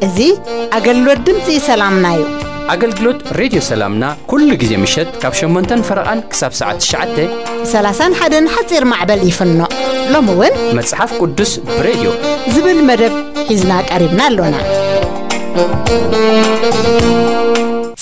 እዚ ኣገልግሎት ድምፂ ሰላምና እዩ። ኣገልግሎት ሬድዮ ሰላምና ኩሉ ግዜ ምሸት ካብ ሸሞንተን ፈረቓን ክሳብ ሰዓት ትሽዓተ ብ ሰላሳን ሓደን ሓፂር ማዕበል ይፍኖ። ሎሚ እውን መጽሓፍ ቅዱስ ብሬድዮ ዝብል መደብ ሒዝና ቀሪብና ኣሎና።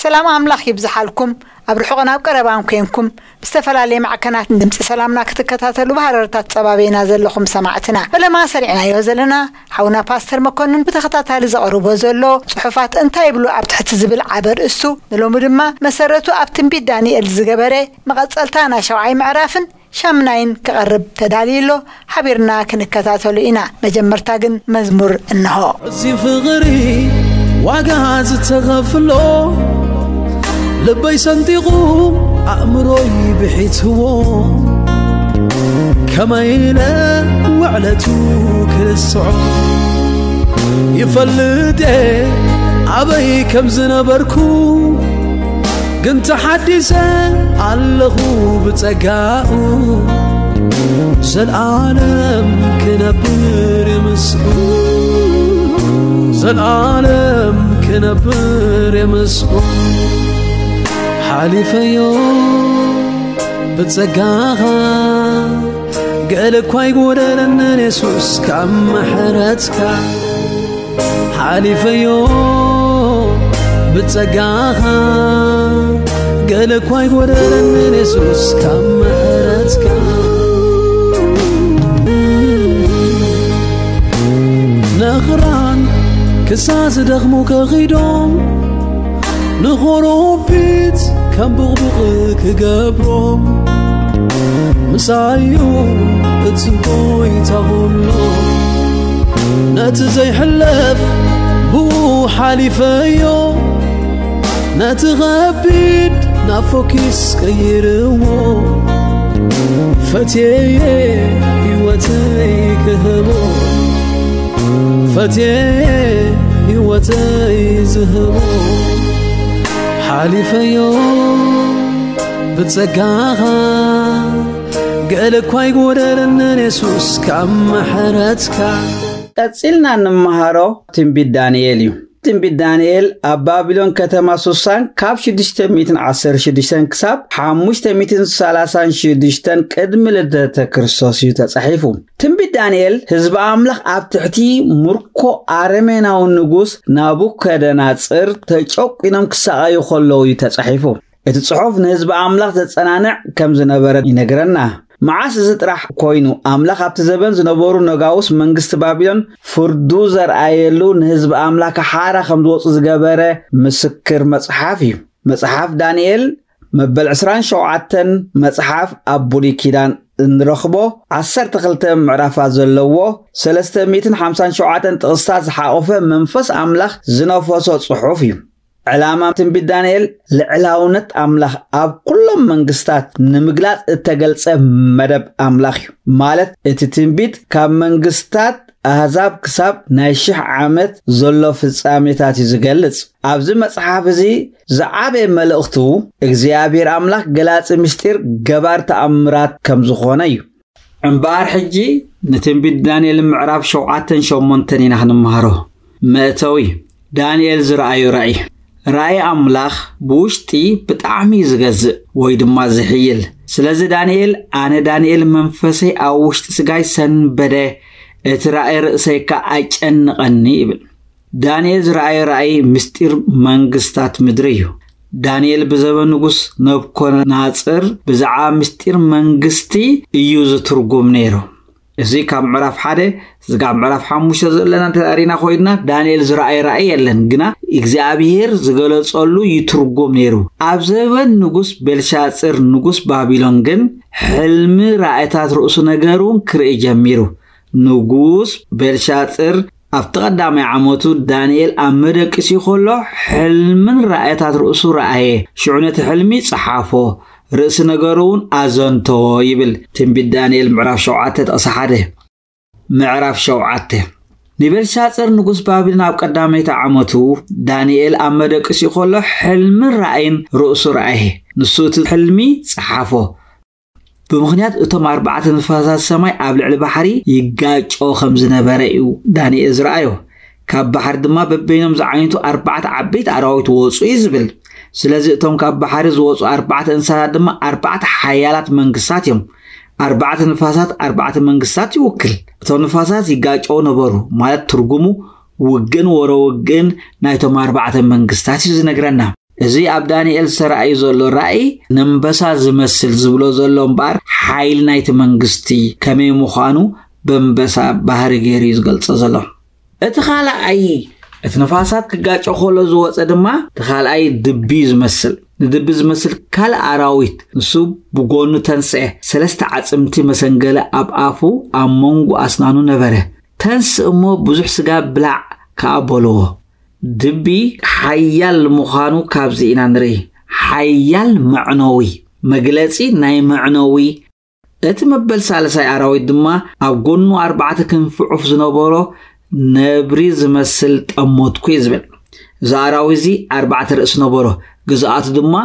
ሰላም ኣምላኽ ይብዝሓልኩም። ኣብ ርሑቕን ኣብ ቀረባን ኮንኩም ብዝተፈላለየ ማዕከናት ድምፂ ሰላምና ክትከታተሉ ብሃረርታት ጸባቤና ዘለኹም ሰማዕትና፣ ፈለማ ሰሪዕናዮ ዘለና ሓውና ፓስተር መኮንን ብተኸታታሊ ዘቕርቦ ዘሎ ጽሑፋት እንታይ ይብሉ ኣብ ትሕቲ ዝብል ዓቢ ኣርእስቱ፣ ንሎሚ ድማ መሰረቱ ኣብ ትንቢት ዳንኤል ዝገበረ መቐጸልታ ናይ ሻውዓይ ምዕራፍን ሻምናይን ክቐርብ ተዳልዩ ኣሎ። ሓቢርና ክንከታተሉ ኢና። መጀመርታ ግን መዝሙር እንሆ። እዚ ፍቕሪ ዋጋ ዝተኸፍሎ፣ ልበይ ሰንጢቑ ኣእምሮይ ብሒትዎ፣ ከመይ ኢለ ውዕለቱ ክርስዖ? ይፈልጥ እየ ኣበይ ከም ዝነበርኩ፣ ግን ተሓዲሰ ኣለኹ ብጸጋኡ። ዘልኣለም ክነብር ምስኡ፣ ዘልኣለም ክነብር ምስኡ። ሓሊፈዮ ብጸጋኻ፣ ገለ እኳ ኣይጎደለንን የሱስ ካብ ምሕረትካ። ሓሊፈዮ ብጸጋኻ፣ ገለ እኳ ኣይጎደለንን የሱስ ካብ ምሕረትካ። ነኽራን ክሳ ዝደኽሙ ከኺዶም፣ ንኾሮቢት ከም ብቕቡቕ ክገብሮም፣ ምሳዩ እቲ ጎይታ ኩሎ። ነቲ ዘይሕለፍ ብኡ ሓሊፈዮ፣ ነቲ ኸቢድ ናብ ፎኪስ ቀይርዎ። ፈትየየ ህይወተይ ክህቦ፣ ፈትየየ ህይወተይ ዝህቦ። ሓሊፈዮ ብጸጋኻ፣ ገለ እኳ ኣይጎደለንን የሱስ ካብ ምሕረትካ። ቀጺልና እንመሃሮ ትንቢት ዳንኤል እዩ። ትንቢት ዳንኤል ኣብ ባቢሎን ከተማ ሱሳን ካብ ሽዱሽተ ሚእትን ዓሰርተ ሽዱሽተን ክሳብ ሓሙሽተ ሚእትን ሰላሳን ሽዱሽተን ቅድሚ ልደተ ክርስቶስ እዩ ተጻሒፉ። ትንቢት ዳንኤል ህዝቢ ኣምላኽ ኣብ ትሕቲ ምርኮ ኣረሜናዊ ንጉስ ናቡከደናጽር ተጨቂኖም ክሳቐዩ ከለዉ እዩ ተጻሒፉ። እቲ ጽሑፍ ንህዝቢ ኣምላኽ ዘጸናንዕ ከም ዝነበረ ይነግረና። መዓስ እዚ ጥራሕ ኮይኑ፣ ኣምላኽ ኣብቲ ዘበን ዝነበሩ ነጋውስ መንግስቲ ባቢሎን ፍርዱ ዘርኣየሉ፣ ንህዝቢ ኣምላኽ ሓራ ከም ዝወጹ ዝገበረ ምስክር መጽሓፍ እዩ። መጽሓፍ ዳንኤል መበል ዕስራን ሸውዓተን መጽሓፍ ኣብ ብሉይ ኪዳን እንረኽቦ ዓሰርተ ክልተ ምዕራፋት ዘለዎ ሰለስተ ሚእትን ሓምሳን ሸውዓተን ጥቕስታት ዝሓቖፈ መንፈስ ኣምላኽ ዝነፈሶ ጽሑፍ እዩ። ዕላማ ትንቢት ዳንኤል ልዕላውነት ኣምላኽ ኣብ ኩሎም መንግስታት ንምግላጽ እተገልጸ መደብ ኣምላኽ እዩ። ማለት እቲ ትንቢት ካብ መንግስታት ኣህዛብ ክሳብ ናይ ሽሕ ዓመት ዘሎ ፍጻሜታት እዩ ዝገልጽ። ኣብዚ መጽሓፍ እዚ ዝዓበየ መልእኽቱ እግዚኣብሔር ኣምላኽ ገላጺ ምስጢር ገባር ተኣምራት ከም ዝኾነ እዩ። እምበኣር ሕጂ ንትንቢት ዳንኤል ምዕራፍ ሸውዓተን ሸሞንተን ኢና ክንመሃሮ። መእተዊ፣ ዳንኤል ዝረኣዮ ራእይ። ራእይ ኣምላኽ ብውሽጢ ብጣዕሚ እዩ ዝገዝእ ወይ ድማ ዝሕይል። ስለዚ ዳንኤል፣ ኣነ ዳንኤል መንፈሰይ ኣብ ውሽጢ ስጋይ ሰንበደ፣ እቲ ራእይ ርእሰይ ከኣ ኣጨነቐኒ ይብል። ዳንኤል ዝረኣዮ ራእይ ምስጢር መንግስታት ምድሪ እዩ። ዳንኤል ብዘበን ንጉስ ነብኮናጽር ብዛዕባ ምስጢር መንግስቲ እዩ ዝትርጉም ነይሩ። እዚ ካብ ምዕራፍ ሓደ፣ እዚ ካብ ምዕራፍ ሓሙሽተ ዘለና እንተ ርኢና ኮይንና፣ ዳንኤል ዝረኣየ ራእይ የለን፣ ግና እግዚኣብሄር ዝገለጸሉ ይትርጉም ነይሩ። ኣብ ዘበን ንጉስ ቤልሻጽር ንጉስ ባቢሎን ግን ሕልሚ ራእይታት ርእሱ ነገር እውን ክርኢ ጀሚሩ። ንጉስ ቤልሻጽር ኣብቲ ቀዳማይ ዓመቱ ዳንኤል ኣብ መደቂሲ ከሎ ሕልምን ራእይታት ርእሱ ረኣየ። ሽዑ ነቲ ሕልሚ ጸሓፎ፣ ርእሲ ነገሩ እውን ኣዘንተዎ ይብል ትንቢት ዳንኤል ምዕራፍ ሸውዓተ ጥቕሲ ሓደ። ምዕራፍ ሸውዓተ። ንቤልሻጽር ንጉስ ባቢሎን ኣብ ቀዳመይቲ ዓመቱ፣ ዳንኤል ኣብ መደቅሲኡ ከሎ ሕልምን ራእይን ርእሱ ረኣየ። ንሱ እቲ ሕልሚ ጸሓፎ። ብምኽንያት እቶም ኣርባዕተ ንፋሳት ሰማይ ኣብ ልዕሊ ባሕሪ ይጋጮ ከም ዝነበረ እዩ ዳንኤል ዝረኣዮ። ካብ ባሕሪ ድማ በበይኖም ዝዓይነቱ ኣርባዕተ ዓበይቲ ኣራዊት ወጹ እዩ ዝብል። ስለዚ እቶም ካብ ባሕሪ ዝወጹ ኣርባዕተ እንስሳታት ድማ ኣርባዕተ ሓያላት መንግስታት እዮም። ኣርባዕተ ንፋሳት ኣርባዕተ መንግስታት ይውክል። እቶም ንፋሳት ይጋጨው ነበሩ፣ ማለት ትርጉሙ ውግእን ወረ ውግእን ናይቶም ኣርባዕተ መንግስታት እዩ ዝነግረና። እዚ ኣብ ዳንኤል ዝተራእዩ ዘሎ ራእይ ንእምበሳ ዝመስል ዝብሎ ዘሎ እምበኣር፣ ሓይሊ ናይቲ መንግስቲ ከመይ ምዃኑ ብእምበሳ ባህሪ ገይሩ እዩ ዝገልጾ ዘሎ። እቲ ካልኣይ፣ እቲ ንፋሳት ክጋጮ ከሎ ዝወጸ ድማ፣ እቲ ካልኣይ ድቢ እዩ ዝመስል። ንድቢ ዝመስል ካልእ ኣራዊት፣ ንሱ ብጎኑ ተንስአ፣ ሰለስተ ዓጽምቲ መሰንገለ ኣብ ኣፉ፣ ኣብ መንጎ ኣስናኑ ነበረ። "ተንስ እሞ ብዙሕ ስጋ ብላዕ" ከኣ በልዎ። ድቢ ሓያል ምዃኑ ካብዚ ኢና ንርኢ። ሓያል መዕነዊ፣ መግለጺ ናይ መዕነዊ። እቲ መበል ሳልሳይ ኣራዊት ድማ ኣብ ጎኑ ኣርባዕተ ክንፊ ዑፍ ዝነበሮ ነብሪ ዝመስል ጠሞትኩ እዩ ዝብል። እዚ ኣራዊት እዚ ኣርባዕተ ርእሲ ነበሮ፣ ግዝኣቱ ድማ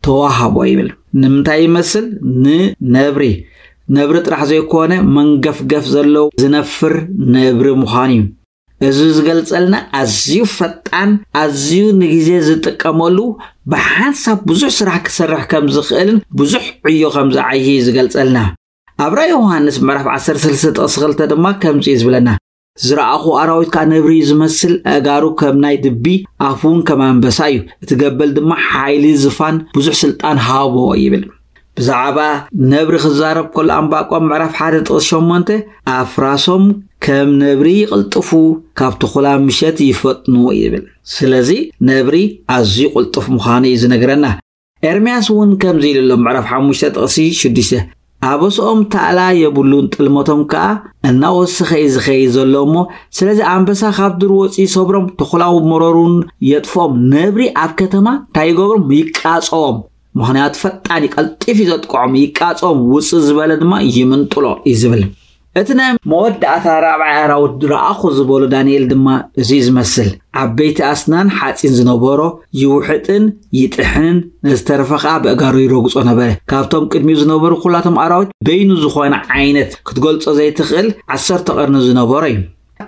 ተዋሃቦ ይብል። ንምንታይ ይመስል? ንነብሪ። ነብሪ ጥራሕ ዘይኮነ መንገፍገፍ ዘለዎ ዝነፍር ነብሪ ምዃኑ እዩ። እዚ ዝገልጸልና ኣዝዩ ፈጣን፣ ኣዝዩ ንግዜ ዝጥቀመሉ፣ ብሓንሳብ ብዙሕ ስራሕ ክሰርሕ ከም ዝኽእልን ብዙሕ ዕዮ ከም ዝዓይይ ዝገልጸልና። ኣብ ራእይ ዮሃንስ ምዕራፍ ዓሰርተ ሰለስተ ጥቕሲ ክልተ ድማ ከምዚ እዩ ዝብለና፣ "ዝረኣኹ ኣራዊት ከኣ ነብሪ እዩ ዝመስል፣ ኣእጋሩ ከም ናይ ድቢ፣ ኣፉ እውን ከም ኣንበሳ እዩ። እቲ ገበል ድማ ሓይሊ፣ ዝፋን፣ ብዙሕ ስልጣን ሃቦ" ይብል። ብዛዕባ ነብሪ ክዛረብ ከሎ ኣንባቆም ምዕራፍ ሓደ ጥቕሲ ሸሞንተ፣ "ኣፍራሶም ከም ነብሪ ይቕልጥፉ፣ ካብ ተኹላ ምሸት ይፈጥኑ" ይብል። ስለዚ ነብሪ ኣዝዩ ቅልጡፍ ምዃኑ እዩ ዝነግረና። ኤርምያስ እውን ከምዚ ኢሉ ኣሎ፣ ምዕራፍ ሓሙሽተ ጥቕሲ ሽዱሽተ፣ "ኣበስኦም ታእላ የብሉን፣ ጥልመቶም ከኣ እናወሰኸ እዩ ዝኸይድ ዘሎ እሞ፣ ስለዚ ኣንበሳ ካብ ዱር ወጺኡ ይሰብሮም፣ ተኹላው መረሩን የጥፍኦም፣ ነብሪ ኣብ ከተማ እንታይ ይገብሮም? ይቃጸዎም። ምኽንያቱ ፈጣን እዩ፣ ቀልጢፍ እዩ ዘጥቅዖም፣ ይቃጸዎም፣ ውጽእ ዝበለ ድማ ይምንጥሎ" እዩ ዝብል። እቲ ናይ መወዳእታ ራብዓይ ኣራዊት ረኣኹ ዝበሎ ዳንኤል ድማ እዚ እዩ ዝመስል። ዓበይቲ ኣስናን ሓጺን ዝነበሮ፣ ይውሕጥን ይጥሕንን፣ ዝተረፈ ኸኣ ብእጋሩ ይረግጾ ነበረ። ካብቶም ቅድሚኡ ዝነበሩ ኩላቶም ኣራዊት በይኑ ዝኾነ ዓይነት ክትገልጾ ዘይትኽእል ዓሰርተ ቀርኒ ዝነበሮ እዩ።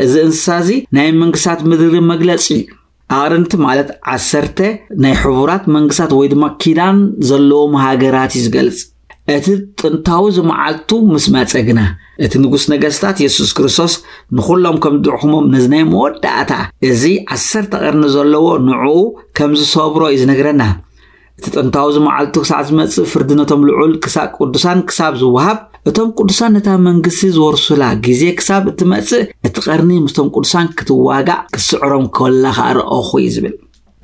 እዚ እንስሳ እዚ ናይ መንግስታት ምድሪ መግለጺ እዩ። ኣቕርንቲ ማለት ዓሰርተ ናይ ሕቡራት መንግስታት ወይ ድማ ኪዳን ዘለዎም ሃገራት እዩ ዝገልጽ። እቲ ጥንታዊ እዚ መዓልቱ ምስ መጸ ግና፣ እቲ ንጉስ ነገስታት የሱስ ክርስቶስ ንኹሎም ከም ዝድሕሞም፣ ነዚ ናይ መወዳእታ እዚ ዓሰርተ ቀርኒ ዘለዎ ንዕኡ ከም ዝሰብሮ እዩ ዝነግረና። እቲ ጥንታዊ እዚ መዓልቱ ክሳዕ ዝመጽእ፣ ፍርዲ ነቶም ልዑል ክሳብ ቅዱሳን ክሳብ ዝወሃብ፣ እቶም ቅዱሳን ነታ መንግስቲ ዝወርሱላ ግዜ ክሳብ እትመጽእ፣ እቲ ቀርኒ ምስቶም ቅዱሳን ክትዋጋእ ክትስዕሮም ከላ ኸኣ ረኣኹ እዩ ዝብል።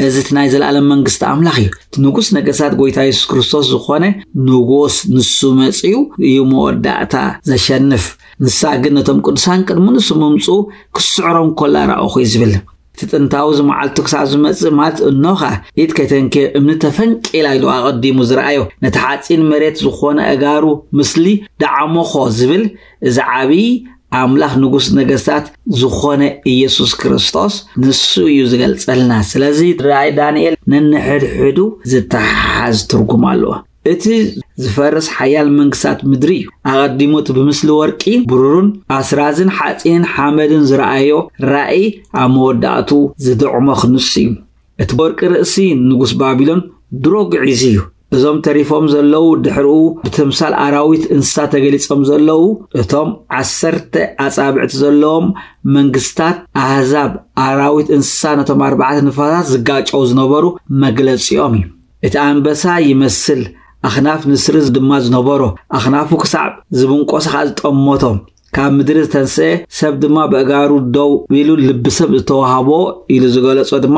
እዚ እቲ ናይ ዘለኣለም መንግስቲ ኣምላኽ እዩ። እቲ ንጉስ ነገስታት ጎይታ የሱስ ክርስቶስ ዝኾነ ንጉስ ንሱ መጺኡ እዩ መወዳእታ ዘሸንፍ። ንሳ ግን ነቶም ቅዱሳን ቅድሚ ንሱ ምምጽኡ ክስዕሮም ከላ ረኣኹ እዩ ዝብል። እቲ ጥንታዊ እዚ መዓልቱ ክሳብ ዝመጽእ፣ ማለት እኖኻ ኢድ ከይተንክየ እምኒ ተፈንቂላ ኢሉ ኣቐዲሙ ዝረኣዮ፣ ነቲ ሓጺን መሬት ዝኾነ ኣእጋሩ ምስሊ ደዓሞኾ ዝብል፣ እዚ ዓብዪ ኣምላኽ ንጉስ ነገስታት ዝኾነ ኢየሱስ ክርስቶስ ንሱ እዩ ዝገልጸልና። ስለዚ ራእይ ዳንኤል ነንሕድሕዱ ዝተሓሓዝ ትርጉም ኣለዎ። እቲ ዝፈርስ ሓያል መንግስታት ምድሪ እዩ። ኣቐዲሙ እቲ ብምስሊ ወርቂ፣ ብሩርን ኣስራዝን ሓጺንን ሓመድን ዝረኣዮ ራእይ ኣብ መወዳእቱ ዝድዕሞ ክንሱ እዩ። እቲ ወርቂ ርእሲ ንጉስ ባቢሎን ድሮ ግዒዙ እዩ። እዞም ተሪፎም ዘለዉ ድሕሪኡ ብተምሳል ኣራዊት እንስሳ ተገሊጾም ዘለዉ፣ እቶም ዓሰርተ ኣጻብዕቲ ዘለዎም መንግስታት ኣህዛብ ኣራዊት እንስሳ ነቶም ኣርባዕተ ንፋሳት ዝጋጨው ዝነበሩ መግለጺኦም እዩ። እቲ ኣንበሳ ይመስል፣ ኣኽናፍ ንስሪ ድማ ዝነበሮ፣ ኣኽናፉ ክሳዕ ዝብንቆስ ኸኣ ዝጠመቶ፣ ካብ ምድሪ ዝተንስአ ሰብ ድማ ብእጋሩ ደው ኢሉ ልቢ ሰብ ዝተዋህቦ ኢሉ ዝገለጾ ድማ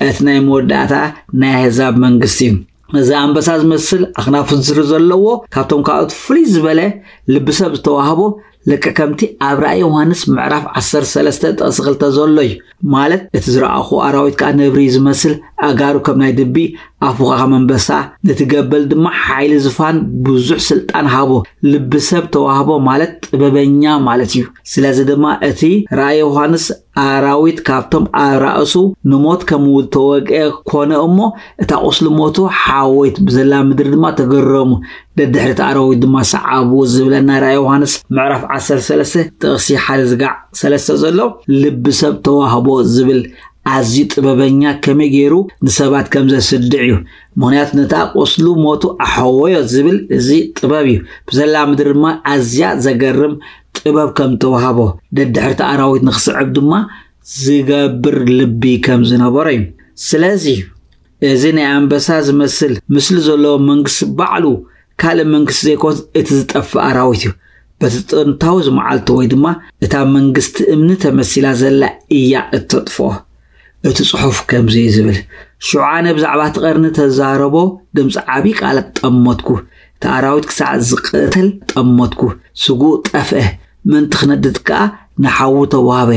እቲ ናይ መወዳእታ ናይ ኣህዛብ መንግስቲ እዩ። እዚ ኣንበሳ ዝመስል ኣኽናፍ ንስሪ ዘለዎ፣ ካብቶም ካልኦት ፍልይ ዝበለ ልቢ ሰብ ዝተዋህቦ፣ ልክዕ ከምቲ ኣብ ራእይ ዮሃንስ ምዕራፍ ዓሰርተ ሰለስተ ጥቕሲ ክልተ ዘሎ እዩ። ማለት እቲ ዝረኣኹ ኣራዊት ከኣ ነብሪ እዩ ዝመስል፣ ኣእጋሩ ከም ናይ ድቢ፣ ኣፉ ኸዓ ከም ኣንበሳ፣ ነቲ ገበል ድማ ሓይሊ ዙፋን ብዙሕ ስልጣን ሃቦ። ልቢ ሰብ ተዋህቦ ማለት ጥበበኛ ማለት እዩ። ስለዚ ድማ እቲ ራእይ ዮሃንስ ኣራዊት ካብቶም ኣራእሱ ንሞት ከም ዝተወግአ ኮነ እሞ፣ እታ ቁስሊ ሞቱ ሓወይት ብዘላ ምድሪ ድማ ተገረሙ። ደድሕሪ እቲ ኣራዊት ድማ ሰዓቡ ዝብለና ራእይ ዮሃንስ ምዕራፍ ዓሰርተ ሰለስተ ጥቕሲ ሓደ ዝጋዕ ሰለስተ ዘሎ ልቢ ሰብ ተዋህቦ ዝብል ኣዝዩ ጥበበኛ ከመይ ገይሩ ንሰባት ከም ዘስድዕ እዩ። ምኽንያቱ ነታ ቁስሉ ሞቱ ኣሕወዮ ዝብል እዚ ጥበብ እዩ። ብዘላ ምድሪ ድማ ኣዝያ ዘገርም ጥበብ ከም ተዋህቦ፣ ደድሕርቲ ኣራዊት ንኽስዕብ ድማ ዝገብር ልቢ ከም ዝነበሮ እዩ። ስለዚ እዚ ናይ ኣንበሳ ዝመስል ምስሊ ዘለዎ መንግስቲ ባዕሉ ካልእ መንግስቲ ዘይኮንስ እቲ ዝጠፍእ ኣራዊት እዩ። በቲ ጥንታዊ ዝመዓልቱ ወይ ድማ እታ መንግስቲ እምኒ ተመሲላ ዘላ እያ እተጥፍኦ። እቲ ጽሑፍ ከምዚ እዩ ዝብል፣ ሽዑ ኣነ ብዛዕባ እቲ ቀርኒ ተዛረቦ ድምፂ ዓብዪ ቃላት ጠመትኩ። እቲ ኣራዊት ክሳዕ ዝቕተል ጠመትኩ። ስግኡ ጠፍአ፣ ምእንቲ ክነድድ ከኣ ንሓዉ ተዋህበ።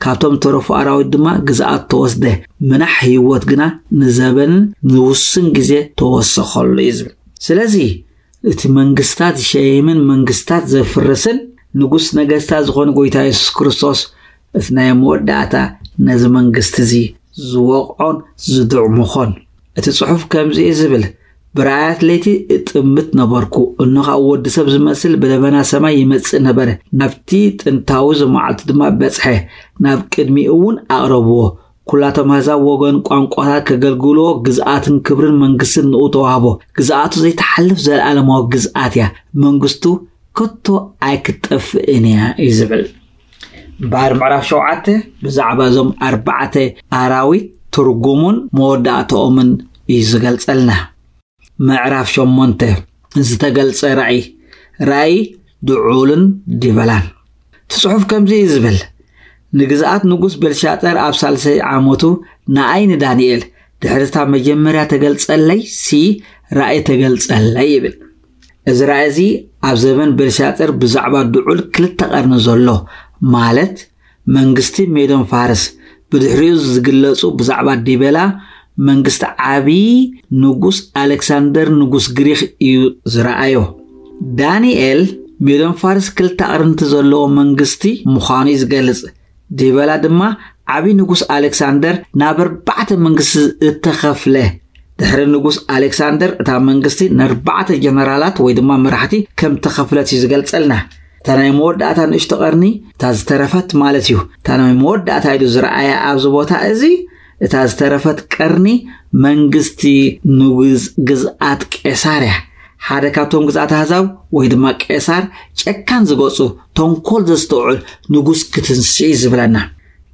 ካብቶም ዝተረፉ ኣራዊት ድማ ግዝኣት ተወስደ። ምናሕ ህይወት ግና ንዘበንን ንውሱን ግዜ ተወሰኸሉ እዩ ዝብል። ስለዚ እቲ መንግስታት ዝሸይምን መንግስታት ዘፍርስን ንጉስ ነገስታት ዝኾነ ጎይታ የሱስ ክርስቶስ እቲ ናይ መወዳእታ ነዚ መንግስቲ እዚ ዝወቕዖን ዝድዕሙኾን። እቲ ጽሑፍ ከምዚ እዩ ዝብል፣ ብራእያት ለይቲ እጥምት ነበርኩ፣ እነሆ ኸዓ ወዲ ሰብ ዝመስል ብደበና ሰማይ ይመጽእ ነበረ፣ ናብቲ ጥንታዊ ዝመዓልቱ ድማ በጽሐ፣ ናብ ቅድሚኡ እውን ኣቕረብዎ። ኩላቶም ኣህዛብ ወገን ቋንቋታት ከገልግልዎ ግዝኣትን ክብርን መንግስትን ንኡ ተዋህቦ። ግዝኣቱ ዘይተሓልፍ ዘለኣለማዊ ግዝኣት እያ። መንግስቱ ከቶ ኣይክትጠፍእን እያ እዩ ዝብል። እምበኣር ምዕራፍ ሸውዓተ ብዛዕባ እዞም ኣርባዕተ ኣራዊት ትርጉሙን መወዳእታኦምን እዩ ዝገልጸልና። ምዕራፍ ሸሞንተ ዝተገልጸ ራእይ፣ ራእይ ድዑልን ዲበላን። እቲ ጽሑፍ ከምዚ እዩ ዝብል፣ ንግዝኣት ንጉስ ቤልሻጠር ኣብ ሳልሰይ ዓመቱ ንኣይ ንዳንኤል ድሕሪ እታ መጀመርያ ተገልጸለይ ሲ ራእይ ተገልጸለይ ይብል። እዚ ራእይ እዚ ኣብ ዘበን ቤልሻጠር ብዛዕባ ድዑል ክልተ ቀርኒ ዘሎ ማለት መንግስቲ ሜዶን ፋርስ፣ ብድሕሪኡ ዝግለጹ ብዛዕባ ዲበላ መንግስቲ ዓቢ ንጉስ ኣሌክሳንደር ንጉስ ግሪኽ እዩ ዝረኣዮ። ዳንኤል ሜዶን ፋርስ ክልተ ኣቕርንቲ ዘለዎ መንግስቲ ምዃኑ እዩ ዝገልጽ። ዲበላ ድማ ዓቢ ንጉስ ኣሌክሳንደር ናብ ኣርባዕተ መንግስቲ እተኸፍለ። ድሕሪ ንጉስ ኣሌክሳንደር እታ መንግስቲ ንኣርባዕተ ጀነራላት ወይ ድማ መራሕቲ ከም ተኸፍለት እዩ ዝገልጸልና። እታ ናይ መወዳእታ ንእሽቶ ቀርኒ እታ ዝተረፈት ማለት እዩ። እታ ናይ መወዳእታ ኢሉ ዝረኣያ ኣብዚ ቦታ እዚ እታ ዝተረፈት ቀርኒ መንግስቲ ንጉስ ግዝኣት ቄሳር እያ። ሓደ ካብቶም ግዝኣት ኣህዛብ ወይ ድማ ቄሳር ጨካን ዝገጹ ተንኮል ዘስተውዕል ንጉስ ክትንስእ እዩ ዝብለና።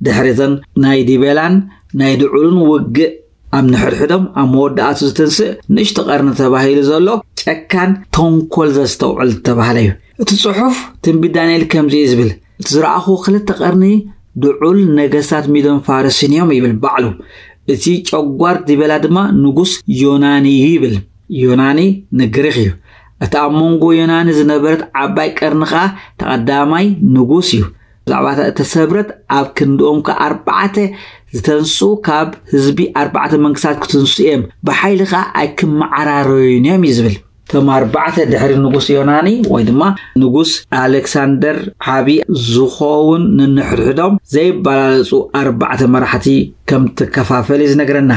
ድሕሪ እተን ናይ ዲቤላን ናይ ድዑልን ውግእ ኣብ ንሕድሕዶም ኣብ መወዳእቱ ዝትንስእ ንእሽቶ ቀርኒ ተባሂሉ ዘሎ ጨካን ተንኮል ዘስተውዕል ዝተባህለ እዩ። እቲ ጽሑፍ ትንቢት ዳንኤል ከምዚ እዩ ዝብል፣ እቲ ዝረኣኹ ክልተ ቀርኒ ድዑል ነገስታት ሚዶን ፋርስን እዮም ይብል ባዕሉ። እቲ ጨጓር ዲበላ ድማ ንጉስ ዮናኒ እዩ ይብል። ዮናኒ ንግሪኽ እዩ። እቲ ኣብ መንጎ ዮናኒ ዝነበረት ዓባይ ቀርኒ ኸኣ ተቐዳማይ ንጉስ እዩ። ብዛዕባ እታ እተሰብረት ኣብ ክንድኦም ከኣ ኣርባዕተ ዝተንስኡ ካብ ህዝቢ ኣርባዕተ መንግስታት ክትንስኡ እዮም፣ ብሓይሊ ኸኣ ኣይክመዓራረዩን እዮም እዩ ዝብል። እቶም ኣርባዕተ ድሕሪ ንጉስ ዮናኒ ወይ ድማ ንጉስ ኣሌክሳንደር ዓቢ ዝኸውን ንንሕድሕዶም ዘይበላለጹ ኣርባዕተ መራሕቲ ከም ትከፋፈል እዩ ዝነግረና።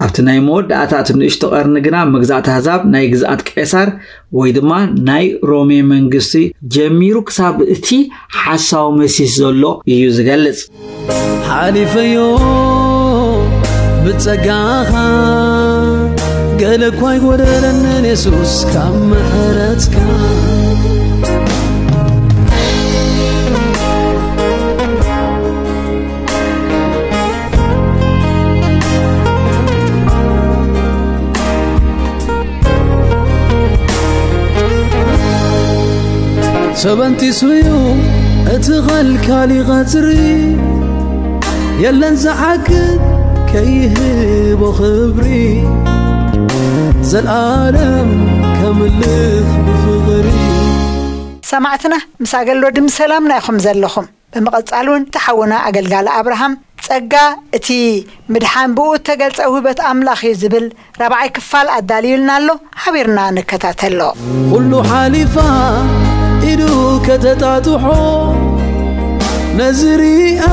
ኣብቲ ናይ መወዳእታ እቲ ንእሽቶ ቀርኒ ግና መግዛእቲ ኣህዛብ ናይ ግዝኣት ቄሳር ወይ ድማ ናይ ሮሜ መንግስቲ ጀሚሩ ክሳብ እቲ ሓሳዊ መሲህ ዘሎ እዩ ዝገልጽ። ሓሊፈዮ ብጸጋኻ፣ ገለ እኳ ኣይጎደለንን የሱስ ካብ ምሕረትካ። ሰበንቲሱ እዩ እቲ ኸልካሊ ቐጽሪ፣ የለን ዝዓግብ ከይህቦ ኽብሪ፣ ዘልኣለም ከምልኽ ብፍቕሪ። ሰማዕትና ምስ ኣገል ወዲ ምስ ሰላምና ኢኹም ዘለኹም። ብምቕጻል እውን እቲ ሓውና ኣገልጋሊ ኣብርሃም ጸጋ እቲ ምድሓን ብኡ እተገልጸ ውህበት ኣምላኽ እዩ ዝብል ራብዓይ ክፋል ኣዳልዩልና ኣሎ። ሓቢርና ንከታተሎ። ኩሉ ሓሊፋ ኢዱ ከተጣጥሖ ነዚ ሪኣ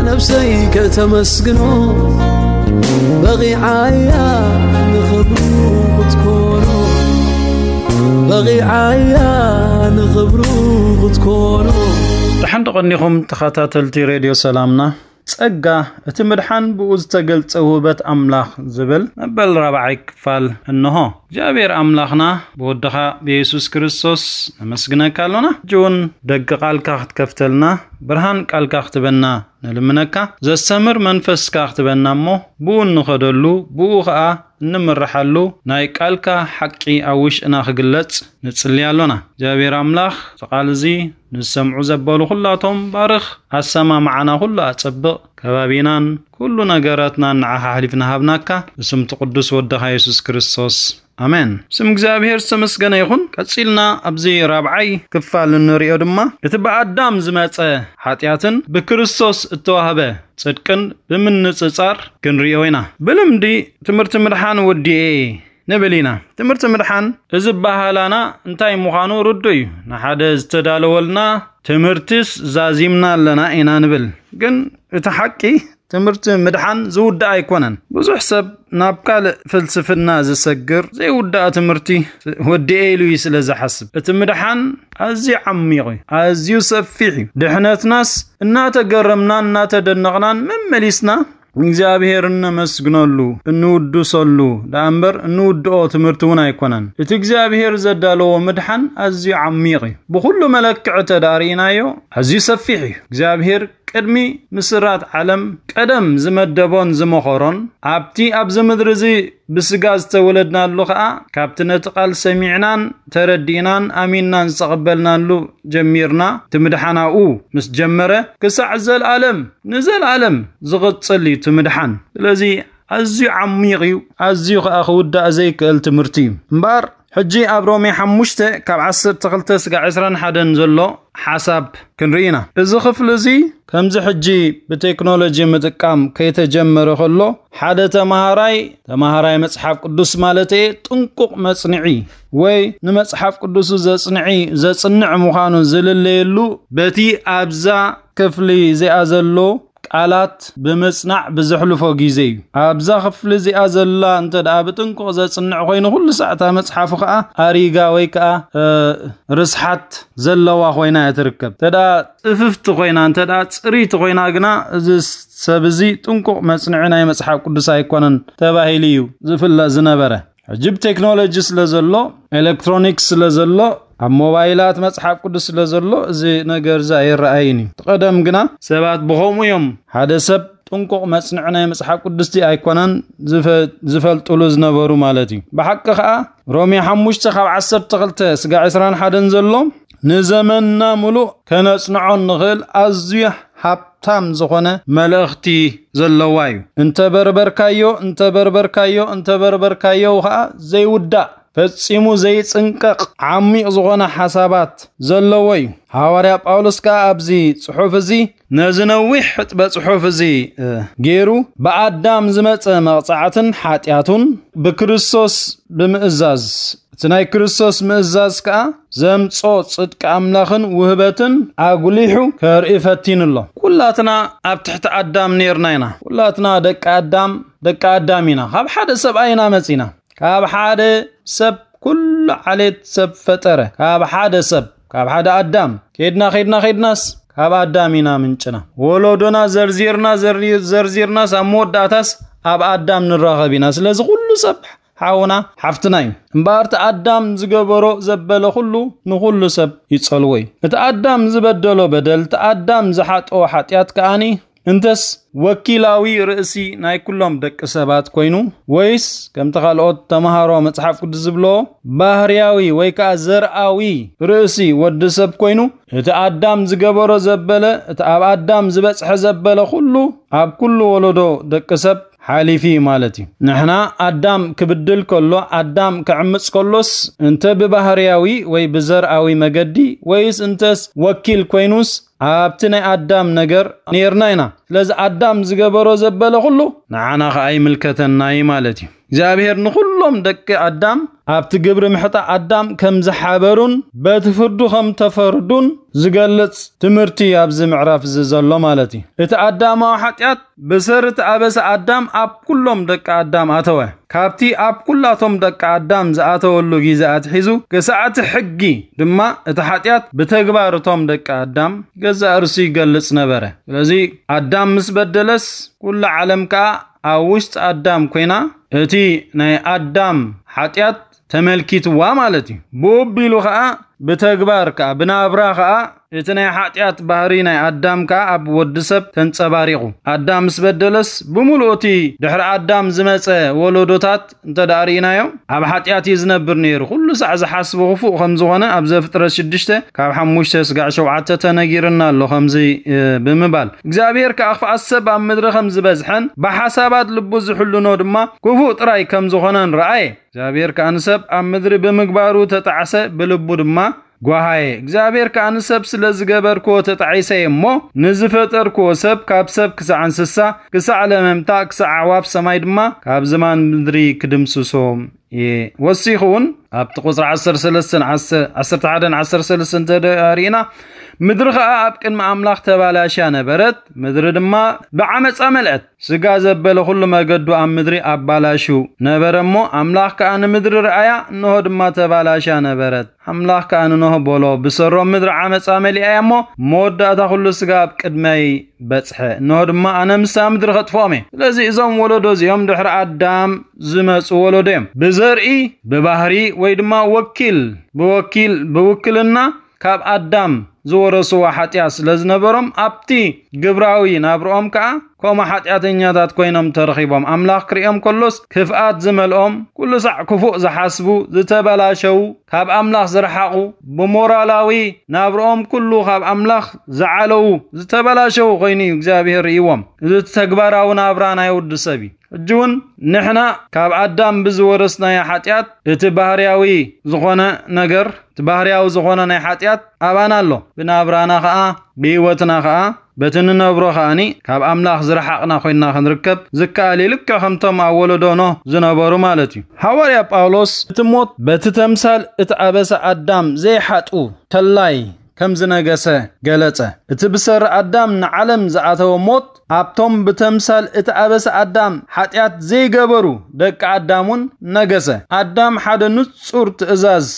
ነብሰይ ከተመስግኖ በቂዓያ ንኽብሩ ክትኮኖ በቂዓያ ንኽብሩ ክትኮኖ። ደሓን ተቐኒኹም ተኸታተልቲ ሬድዮ ሰላምና። ጸጋ እቲ ምድሓን ብኡ ዝተገልጸ ውህበት ኣምላኽ ዝብል መበል ራብዓይ ክፋል እንሆ። እግዚኣብሔር ኣምላኽና ብወድኻ ብየሱስ ክርስቶስ ነመስግነካ ኣሎና። ሕጂ እውን ደቂ ቃልካ ክትከፍተልና ብርሃን ቃልካ ክትበና ንልምነካ። ዘስተምር መንፈስካ ክትበና እሞ ብኡ እንኸደሉ ብኡ ኸኣ እንምርሓሉ ናይ ቃልካ ሓቂ ኣብ ውሽጥና ክግለጽ ንጽሊ ኣሎና። እግዚኣብሔር ኣምላኽ እቲ ቃል እዚ ንዝሰምዑ ዘበሉ ኩላቶም ባርኽ፣ ኣሰማምዓና ኩሉ ኣጸብቕ፣ ከባቢናን ኩሉ ነገራትናን ንዓኻ ኣሕሊፍና ሃብናካ፣ ብስምቲ ቅዱስ ወድኻ የሱስ ክርስቶስ ኣሜን። ስም እግዚኣብሔር ዝተመስገነ ይኹን። ቀጺልና ኣብዚ ራብዓይ ክፋል እንሪኦ ድማ እቲ ብኣዳም ዝመጸ ሓጢኣትን ብክርስቶስ እተዋህበ ጽድቅን ብምንጽጻር ክንሪኦ ኢና። ብልምዲ ትምህርቲ ምድሓን ወዲኤ ንብል ኢና። ትምህርቲ ምድሓን እዚ ባህላና እንታይ ምዃኑ ርዱእ እዩ። ንሓደ ዝተዳለወልና ትምህርትስ ዛዚምና ኣለና ኢና ንብል። ግን እቲ ሓቂ ትምህርቲ ምድሓን ዝውዳእ ኣይኮነን። ብዙሕ ሰብ ናብ ካልእ ፍልስፍና ዝሰግር ዘይውዳእ ትምህርቲ ወዲኤ ኢሉ እዩ ስለ ዝሓስብ። እቲ ምድሓን ኣዝዩ ዓሚቕ እዩ፣ ኣዝዩ ሰፊሕ እዩ። ድሕነትናስ እናተገረምናን እናተደነቕናን መመሊስና እግዚኣብሔር እነመስግነሉ፣ እንውድሰሉ ደኣ እምበር እንውድኦ ትምህርቲ እውን ኣይኮነን። እቲ እግዚኣብሔር ዘዳለዎ ምድሓን ኣዝዩ ዓሚቕ እዩ። ብኹሉ መለክዒ ተዳርእናዮ ኣዝዩ ሰፊሕ እዩ። እግዚኣብሔር ቅድሚ ምስራት ዓለም ቀደም ዝመደቦን ዝመኸሮን ኣብቲ ኣብዚ ምድሪ እዚ ብስጋ ዝተወለድናሉ ኸኣ ካብቲ ነቲ ቃል ሰሚዕናን ተረዲእናን ኣሚንናን ዝተቐበልናሉ ጀሚርና እቲ ምድሓን ኣብኡ ምስ ጀመረ ክሳዕ ዘልኣለም ንዘልኣለም ዝቕጽል እዩ እቲ ምድሓን። ስለዚ ኣዝዩ ዓሚቕ እዩ፣ ኣዝዩ ኸኣ ክውዳእ ዘይክእል ትምህርቲ እዩ። እምበኣር ሕጂ ኣብ ሮሜ ሓሙሽተ ካብ ዓሰርተ ክልተ ስጋዕ ዕስራን ሓደን ዘሎ ሓሳብ ክንርኢ ኢና። እዚ ክፍሊ እዚ ከምዚ ሕጂ ብቴክኖሎጂ ምጥቃም ከይተጀመረ ከሎ ሓደ ተማሃራይ ተማሃራይ መጽሓፍ ቅዱስ ማለት እየ ጥንቁቕ መጽንዒ ወይ ንመጽሓፍ ቅዱሱ ዘጽንዒ ዘጽንዕ ምዃኑ ዝልለየሉ በቲ ኣብዛ ክፍሊ እዚኣ ዘሎ ቃላት ብምጽናዕ ብዘሕልፎ ግዜ እዩ። ኣብዛ ክፍሊ እዚኣ ዘላ እንተ ደኣ ብጥንቁቕ ዘጽንዕ ኮይኑ ኩሉ ሳዕ እታ መጽሓፉ ከኣ ኣሪጋ ወይ ከኣ ርስሓት ዘለዋ ኮይና እያ ትርከብ። እንተ ደኣ ጽፍፍቲ ኮይና እንተ ደኣ ጽርይቲ ኮይና ግና እዚ ሰብ እዚ ጥንቁቕ መጽንዒ ናይ መጽሓፍ ቅዱስ ኣይኮነን ተባሂሉ እዩ ዝፍለጥ ዝነበረ። ሕጂ ብቴክኖሎጂ ስለ ዘሎ ኤሌክትሮኒክስ ስለ ዘሎ ኣብ ሞባይላት መጽሓፍ ቅዱስ ስለ ዘሎ እዚ ነገር እዚ ኣይረኣይን እዩ። ቀደም ግና ሰባት ብኸምኡ እዮም ሓደ ሰብ ጥንቁቕ መጽንዒ ናይ መጽሓፍ ቅዱስቲ ኣይኮነን ዝፈልጥሉ ዝነበሩ ማለት እዩ። ብሓቂ ከኣ ሮሜ ሓሙሽተ ካብ ዓሰርተ ክልተ ስጋ ዕስራን ሓደን ዘሎ ንዘመንና ምሉእ ከነጽንዖ እንኽእል ኣዝዩ ሃብታም ዝኾነ መልእኽቲ ዘለዋ እዩ። እንተበርበርካዮ እንተበርበርካዮ እንተበርበርካዮ ከኣ ዘይውዳእ ፈጺሙ ዘይጽንቀቕ ዓሚቕ ዝኾነ ሓሳባት ዘለዎ እዩ። ሃዋርያ ጳውሎስ ከኣ ኣብዚ ጽሑፍ እዚ ነዚ ነዊሕ ሕጥበ ጽሑፍ እዚ ገይሩ ብኣዳም ዝመጸ መቕጻዕትን ሓጢኣቱን ብክርስቶስ ብምእዛዝ እቲ ናይ ክርስቶስ ምእዛዝ ከኣ ዘምጾ ጽድቂ ኣምላኽን ውህበትን ኣጉሊሑ ከርኢ ፈቲኑ ኣሎ። ኩላትና ኣብ ትሕቲ ኣዳም ኔርና ኢና። ኩላትና ደቂ ኣዳም ደቂ ኣዳም ኢና። ካብ ሓደ ሰብኣይ ኢና መጺና። ካብ ሓደ ሰብ ኩሉ ዓሌት ሰብ ፈጠረ። ካብ ሓደ ሰብ ካብ ሓደ ኣዳም ከይድና ከይድና ከይድናስ ካብ ኣዳም ኢና ምንጭና። ወለዶና ዘርዚርና ዘርዚርናስ ኣብ መወዳእታስ ኣብ ኣዳም ንራኸብ ኢና። ስለዚ ኩሉ ሰብ ሓውና ሓፍትና እዩ። እምበኣር እቲ ኣዳም ዝገበሮ ዘበለ ኩሉ ንኹሉ ሰብ ይጸልዎ እዩ። እቲ ኣዳም ዝበደሎ በደል እቲ ኣዳም ዝሓጠዎ ሓጢኣት ከኣኒ እንተስ ወኪላዊ ርእሲ ናይ ኩሎም ደቂ ሰባት ኮይኑ ወይስ ከምቲ ካልኦት ተምሃሮ መጽሓፍ ቅዱስ ዝብሎ ባህርያዊ ወይ ከኣ ዘርኣዊ ርእሲ ወዲ ሰብ ኮይኑ እቲ ኣዳም ዝገበሮ ዘበለ እቲ ኣብ ኣዳም ዝበጽሐ ዘበለ ኩሉ ኣብ ኩሉ ወለዶ ደቂ ሰብ ሓሊፊ ማለት እዩ። ንሕና ኣዳም ክብድል ከሎ ኣዳም ክዕምጽ ከሎስ እንተ ብባህርያዊ ወይ ብዘርኣዊ መገዲ ወይስ እንተስ ወኪል ኮይኑስ ኣብቲ ናይ ኣዳም ነገር ነርና ኢና። ስለዚ ኣዳም ዝገበሮ ዘበለ ኩሉ ንዓና ከኣ ይምልከተና እዩ ማለት እዩ። እግዚኣብሔር ንኹሎም ደቂ ኣዳም ኣብቲ ግብሪ ምሕጣ ኣዳም ከም ዝሓበሩን በቲ ፍርዱ ከም ተፈርዱን ዝገልጽ ትምህርቲ ኣብዚ ምዕራፍ እዚ ዘሎ ማለት እዩ። እቲ ኣዳማዊ ሓጢኣት ብሰር እቲ ኣበሳ ኣዳም ኣብ ኩሎም ደቂ ኣዳም ኣተወ። ካብቲ ኣብ ኩላቶም ደቂ ኣዳም ዝኣተወሉ ግዜ ኣትሒዙ ክሳዕ እቲ ሕጊ ድማ እቲ ሓጢኣት ብተግባር እቶም ደቂ ኣዳም ገዛእ ርእሱ ይገልጽ ነበረ። ስለዚ ኣዳም ምስ በደለስ ኩላ ዓለም ከኣ ኣብ ውሽጢ ኣዳም ኮይና እቲ ናይ ኣዳም ሓጢኣት ተመልኪትዋ ማለት እዩ። ብኡ ኣቢሉ ከኣ ብተግባር ከኣ ብናብራ ከኣ እቲ ናይ ሓጢኣት ባህሪ ናይ ኣዳም ከኣ ኣብ ወዲ ሰብ ተንጸባሪቑ። ኣዳም ምስ በደለስ ብምሉእ እቲ ድሕሪ ኣዳም ዝመጸ ወለዶታት እንተ ደኣ ርኢናዮ ኣብ ሓጢኣት እዩ ዝነብር ነይሩ። ኩሉ ሳዕ ዝሓስቦ ክፉእ ከም ዝኾነ ኣብ ዘፍጥረት ሽዱሽተ ካብ ሓሙሽተ ስጋዕ ሸውዓተ ተነጊርና ኣሎ። ከምዚ ብምባል እግዚኣብሔር ከኣ ክፍኣት ሰብ ኣብ ምድሪ ከም ዝበዝሐን ብሓሳባት ልቡ ዝሕልኖ ድማ ክፉእ ጥራይ ከም ዝኾነን ረኣየ። እግዚኣብሔር ከኣ ንሰብ ኣብ ምድሪ ብምግባሩ ተጣዕሰ፣ ብልቡ ድማ ጓሃየ። እግዚኣብሔር ከኣ ንሰብ ስለ ዝገበርክዎ ተጣዒሰ እሞ ንዝፈጠርክዎ ሰብ ካብ ሰብ ክሳዕ እንስሳ ክሳዕ ለመምታ ክሳዕ ኣዕዋፍ ሰማይ ድማ ካብ ዝማን ምድሪ ክድምስሶ እየ። ወሲኹ እውን ኣብቲ ቁፅሪ ዓሰርተ ሰለስተን ዓሰርተ ሓደን ዓሰርተ ሰለስተን እንተ ርኢና ምድሪ ከኣ ኣብ ቅድሚ ኣምላኽ ተባላሽያ ነበረት፣ ምድሪ ድማ ብዓመፃ መልአት። ስጋ ዘበለ ኩሉ መገዱ ኣብ ምድሪ ኣባላሹ ነበረ እሞ ኣምላኽ ከኣ ንምድሪ ረኣያ፣ እንሆ ድማ ተባላሻ ነበረት። ኣምላኽ ከኣ ንኖህ በሎ፣ ብሰሮም ምድሪ ዓመፃ መሊኣያ እሞ መወዳእታ ኩሉ ስጋ ኣብ ቅድመይ በጽሐ፣ እንሆ ድማ ኣነ ምሳ ምድሪ ከጥፍኦም እየ። ስለዚ እዞም ወለዶ እዚኦም ድሕሪ ኣዳም ዝመፁ ወለዶ እዮም። ብዘርኢ ብባህሪ ወይ ድማ ወኪል ብወኪል ብውክልና ካብ ኣዳም ዝወረስዎ ሓጢኣት ስለ ዝነበሮም ኣብቲ ግብራዊ ናብርኦም ከኣ ከምኡ ሓጢኣተኛታት ኮይኖም ተረኺቦም። ኣምላኽ ክርእዮም ከሎስ ክፍኣት ዝመልኦም፣ ኩሉ ሳዕ ክፉእ ዝሓስቡ፣ ዝተበላሸዉ፣ ካብ ኣምላኽ ዝረሓቑ፣ ብሞራላዊ ናብርኦም ኩሉ ካብ ኣምላኽ ዝዓለዉ፣ ዝተበላሸዉ ኮይኑ እዩ እግዚኣብሔር ርእይዎም። እዚ ተግባራዊ ናብራ ናይ ወዲ ሰብ እዩ። ሕጂ እውን ንሕና ካብ ኣዳም ብዝወረስናዮ ሓጢኣት እቲ ባህርያዊ ዝኾነ ነገር እቲ ባህርያዊ ዝኾነ ናይ ሓጢኣት ኣባና ኣሎ። ብናብራና ኸኣ ብህይወትና ኸኣ በቲ ንነብሮ ኸኣኒ ካብ ኣምላኽ ዝረሓቕና ኮይንና ክንርከብ ዝከኣል እዩ። ልክዕ ከምቶም ኣብ ወለዶ ኖህ ዝነበሩ ማለት እዩ። ሃዋርያ ጳውሎስ እቲ ሞት በቲ ተምሳል እቲ ኣበሳ ኣዳም ዘይሓጡ ተላይ ከም ዝነገሰ ገለጸ። እቲ ብሰሪ ኣዳም ንዓለም ዝኣተወ ሞት ኣብቶም ብተምሳል እቲ ኣበሳ ኣዳም ሓጢኣት ዘይገበሩ ደቂ ኣዳም እውን ነገሰ። ኣዳም ሓደ ንጹር ትእዛዝ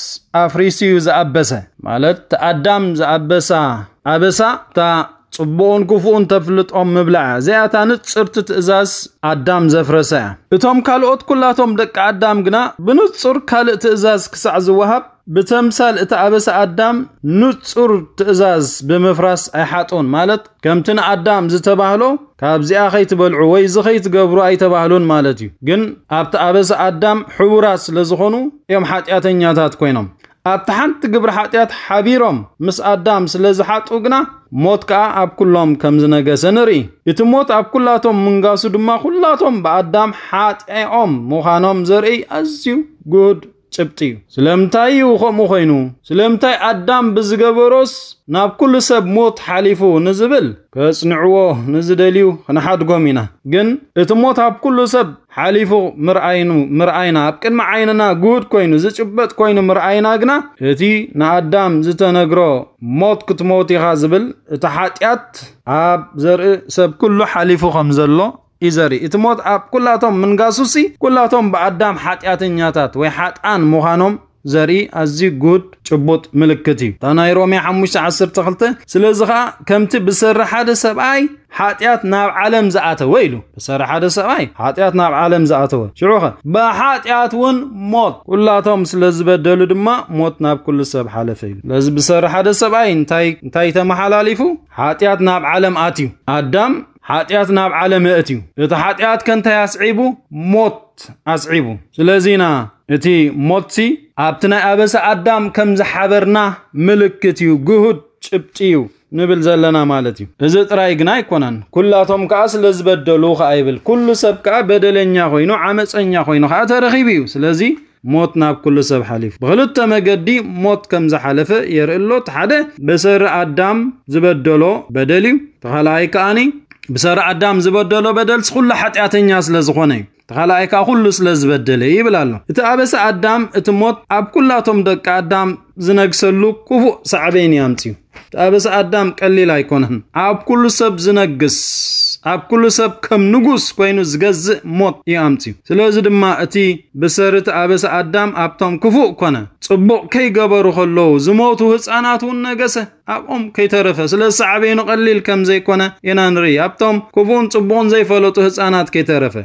ኣፍሪሱ እዩ ዝኣበሰ። ማለት እቲ ኣዳም ዝኣበሳ ኣበሳ እታ ጽቡቕን ክፉእን ተፍልጦም ምብላዕ እዚኣታ ንጽርቲ ትእዛዝ ኣዳም ዘፍረሰ እያ። እቶም ካልኦት ኩላቶም ደቂ ኣዳም ግና ብንጹር ካልእ ትእዛዝ ክሳዕ ዝወሃብ ብተምሳል እቲ ኣበሳ ኣዳም ንጹር ትእዛዝ ብምፍራስ ኣይሓጡን። ማለት ከምቲ ንኣዳም ዝተባህሎ ካብዚኣ ከይትበልዑ ወይ እዚ ከይትገብሩ ኣይተባህሉን ማለት እዩ። ግን ኣብቲ ኣበሳ ኣዳም ሕቡራት ስለ ዝኾኑ እዮም ሓጢኣተኛታት ኮይኖም። ኣብቲ ሓንቲ ግብሪ ሓጢኣት ሓቢሮም ምስ ኣዳም ስለ ዝሓጡ ግና ሞት ከኣ ኣብ ኩሎም ከም ዝነገሰ ንርኢ። እቲ ሞት ኣብ ኩላቶም ምንጋሱ ድማ ኩላቶም ብኣዳም ሓጢኦም ምዃኖም ዘርኢ ኣዝዩ ግሁድ ጭብጢ እዩ። ስለምንታይ እዩ ከምኡ ኮይኑ? ስለምንታይ ኣዳም ብዝገበሮስ ናብ ኩሉ ሰብ ሞት ሓሊፉ ንዝብል ከጽንዕዎ ንዝደልዩ ክንሓድጎም ኢና። ግን እቲ ሞት ኣብ ኩሉ ሰብ ሓሊፉ ምርኣይኑ ምርኣይና ኣብ ቅድሚ ዓይንና ግሁድ ኮይኑ ዝጭበጥ ኮይኑ ምርኣይና ግና እቲ ንኣዳም ዝተነግሮ ሞት ክትሞት ኢኻ ዝብል እቲ ሓጢኣት ኣብ ዘርኢ ሰብ ኩሉ ሓሊፉ ከም ዘሎ እዩ ዘርኢ። እቲ ሞት ኣብ ኩላቶም ምንጋሱሲ ኩላቶም ብኣዳም ሓጢኣተኛታት ወይ ሓጥኣን ምዃኖም ዘርኢ ኣዝዩ ግሁድ ጭቡጥ ምልክት እዩ። እታ ናይ ሮሜ ሓሙሽተ ዓሰርተ ክልተ ስለዚ ኸኣ ከምቲ ብሰሪ ሓደ ሰብኣይ ሓጢኣት ናብ ዓለም ዝኣተወ ኢሉ። ብሰሪ ሓደ ሰብኣይ ሓጢኣት ናብ ዓለም ዝኣተወ። ሽዑ ኸ ብሓጢኣት እውን ሞት። ኩላቶም ስለ ዝበደሉ ድማ ሞት ናብ ኩሉ ሰብ ሓለፈ ኢሉ። ስለዚ ብሰሪ ሓደ ሰብኣይ እንታይ እንታይ ተመሓላሊፉ? ሓጢኣት ናብ ዓለም ኣትዩ። ኣዳም ሓጢኣት ናብ ዓለም የእትዩ። እቲ ሓጢኣት ከ እንታይ ኣስዒቡ? ሞት ኣስዒቡ። ስለዚ ኢና እቲ ሞትሲ ኣብቲ ናይ ኣበሳ ኣዳም ከም ዝሓበርና ምልክት እዩ፣ ግሁድ ጭብጢ እዩ ንብል ዘለና ማለት እዩ። እዚ ጥራይ ግና ኣይኮነን፣ ኩላቶም ከኣ ስለ ዝበደሉ ከኣ ይብል። ኩሉ ሰብ ከኣ በደለኛ ኮይኑ ዓመፀኛ ኮይኑ ከኣ ተረኺቡ እዩ። ስለዚ ሞት ናብ ኩሉ ሰብ ሓሊፉ። ብኽልተ መገዲ ሞት ከም ዝሓለፈ የርኢ ኣሎ። እቲ ሓደ ብሰሪ ኣዳም ዝበደሎ በደል እዩ። እቲ ካልኣይ ከኣኒ ብሰሪ ኣዳም ዝበደሎ በደል ኩሉ ሓጢኣተኛ ስለ ዝኾነ እዩ። እቲ ካልኣይ ከኣ ኩሉ ስለ ዝበደለ እዩ ይብል ኣሎ። እቲ ኣበሳ ኣዳም፣ እቲ ሞት ኣብ ኩላቶም ደቂ ኣዳም ዝነግሰሉ ክፉእ ሳዕቤን እዩ ኣምፅዩ። እቲ ኣበሳ ኣዳም ቀሊል ኣይኮነን። ኣብ ኩሉ ሰብ ዝነግስ፣ ኣብ ኩሉ ሰብ ከም ንጉስ ኮይኑ ዝገዝእ ሞት እዩ ኣምፅዩ። ስለዚ ድማ እቲ ብሰሪ እቲ ኣበሳ ኣዳም ኣብቶም ክፉእ ኮነ፣ ጽቡቕ ከይገበሩ ከለዉ ዝሞቱ ህፃናት እውን ነገሰ፣ ኣብኦም ከይተረፈ። ስለዚ ሳዕቤኑ ቀሊል ከም ዘይኮነ ኢና ንርኢ። ኣብቶም ክፉእን ጽቡቕን ዘይፈለጡ ህፃናት ከይተረፈ።